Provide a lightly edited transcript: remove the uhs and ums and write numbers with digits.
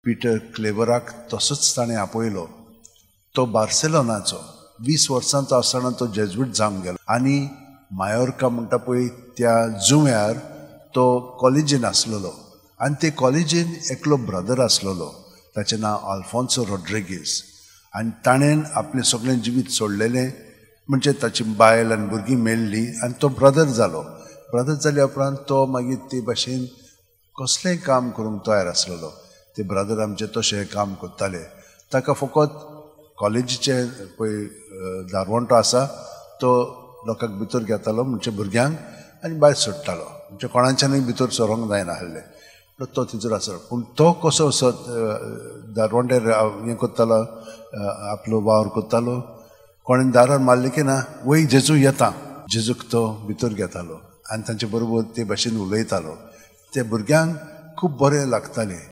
Peter क्लेवराक तसोच ताणें आपयलो. तो बार्सेलोनाचो 20 वर्सांचो आसतना तो जेज्वीट जावन गेलो आनी मायोर्का म्हणटा पळय त्या जुंव्यार तो कॉलेजीन आसलेलो आनी ते कॉलेजीन एकलो ब्रदर आसलेलो, ताचें नांव आल्फोन्सो रॉड्रिगीस. आनी ताणें आपलें सगळें जिवीत सोडलेलें, म्हणजे ताची बायल आनी भुरगीं मेल्ली आनी तो ब्रदर जालो. ब्रदर जाल्या उपरांत तो मागीर ते भाशेन कसलेंय काम करूंक तयार आसलेलो. ते ब्रदर आमचे तशें काम करताले. ताका फकत कॉलेजीचे पळय दारवंटो आसा तो लोकांक भितर घेतालो, म्हणजे भुरग्यांक, आनी भायर सोडटालो, म्हणजे कोणाच्यानूय भितर सरोंक जायना आसलें. तो थंयसर आसलो. पूण तो कसो असो दारवंट्यार हें करतालो, आपलो वावर करतालो. कोणें दारार मारलें की ना, वय जेजू येता, जेजूक तो भितर घेतालो आनी तांचे बरोबर ते भाशेन उलयतालो. ते भुरग्यांक खूब बरें लागतालें.